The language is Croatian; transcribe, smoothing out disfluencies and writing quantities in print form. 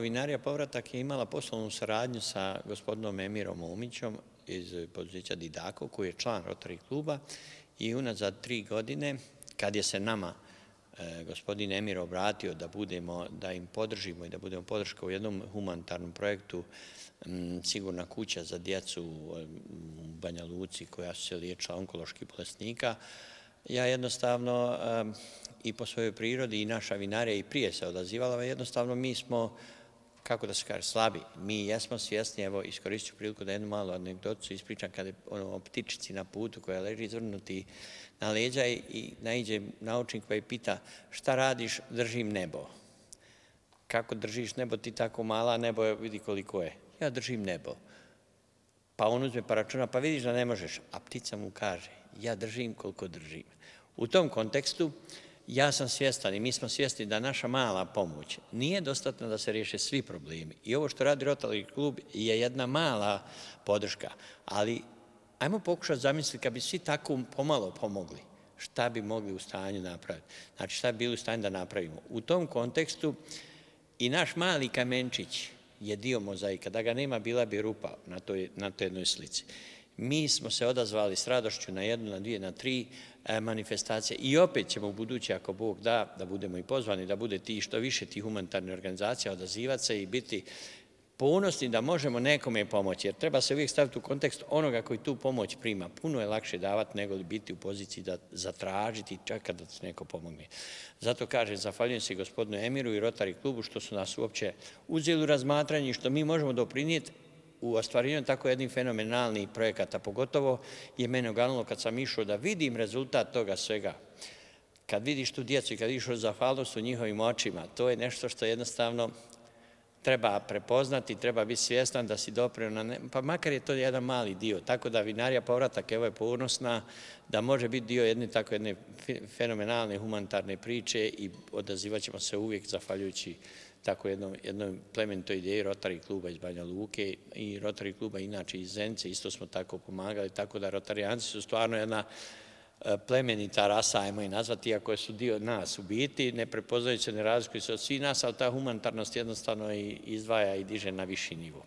Vinarija Povratak je imala poslovnu saradnju sa gospodinom Emirom Momićom iz poduzeća Didako, koji je član Rotary kluba, i unazad 3 godine, kad je se nama gospodin Emir obratio da im podržimo i da budemo podrška u jednom humanitarnom projektu Sigurna kuća za djecu u Banja Luci koja su se liječila onkoloških bolesnika, ja jednostavno i po svojoj prirodi i naša vinarija i prije se odazivala, jednostavno mi smo, kako da se kaže, slabi. Mi jesmo svjesni, evo iskoristit ću priliku da jednu malu anegdotu ispričam, kada je o ptičici na putu koja leži izvrnuti na leđa i naiđe naučnik pa je pita šta radiš, držim nebo. Kako držiš nebo, ti tako mala, nebo vidi koliko je. Ja držim nebo. Pa on uzme pa računa, pa vidiš da ne možeš, a ptica mu kaže ja držim koliko držim. U tom kontekstu ja sam svjestan i mi smo svjesni da naša mala pomoć nije dostatna da se riješe svi problemi. I ovo što radi Rotary klub je jedna mala podrška, ali ajmo pokušati zamisliti kad bi svi tako pomalo pomogli, šta bi mogli u stanju napraviti. Znači šta bi bili u stanju da napravimo. U tom kontekstu i naš mali kamenčić je dio mozaika. Da ga nema, bila bi rupa na toj jednoj slici. Mi smo se odazvali s radošću na 1, na 2, na 3 manifestacije i opet ćemo u budući, ako Bog da budemo i pozvani, da bude što više tih humanitarnih organizacija, odazivati se i biti ponosni da možemo nekome pomoći. Jer treba se uvijek staviti u kontekst onoga koji tu pomoć prima. Puno je lakše davati nego li biti u poziciji da zatražiti čak kada se neko pomogne. Zato kažem, zahvaljujem se gospodinu Emiru i Rotary klubu što su nas uopće uzeli u razmatranje i što mi možemo doprinijeti u ostvarivanju tako jednih fenomenalnih projekata. Pogotovo je mene oganulo kad sam išao da vidim rezultat toga svega. Kad vidiš tu djecu i kad vidiš zahvalnost u njihovim očima, to je nešto što jednostavno treba prepoznati, treba biti svjestan da si doprinio, pa makar je to jedan mali dio. Tako da Vinarija Povratak evo je ponosna da može biti dio jedne tako jedne fenomenalne humanitarne priče i odazivat ćemo se uvijek zahvaljujući tako jednoj plemenitoj ideji Rotary kluba iz Banja Luke i Rotary kluba inače iz Zenice, isto smo tako pomagali, tako da Rotarijanci su stvarno jedna plemenita rasa, ajmo i nazvati, iako su dio nas u biti, ne prepoznajući se, ne razlikuju se od svih nas, ali ta humanitarnost jednostavno izdvaja i diže na viši nivo.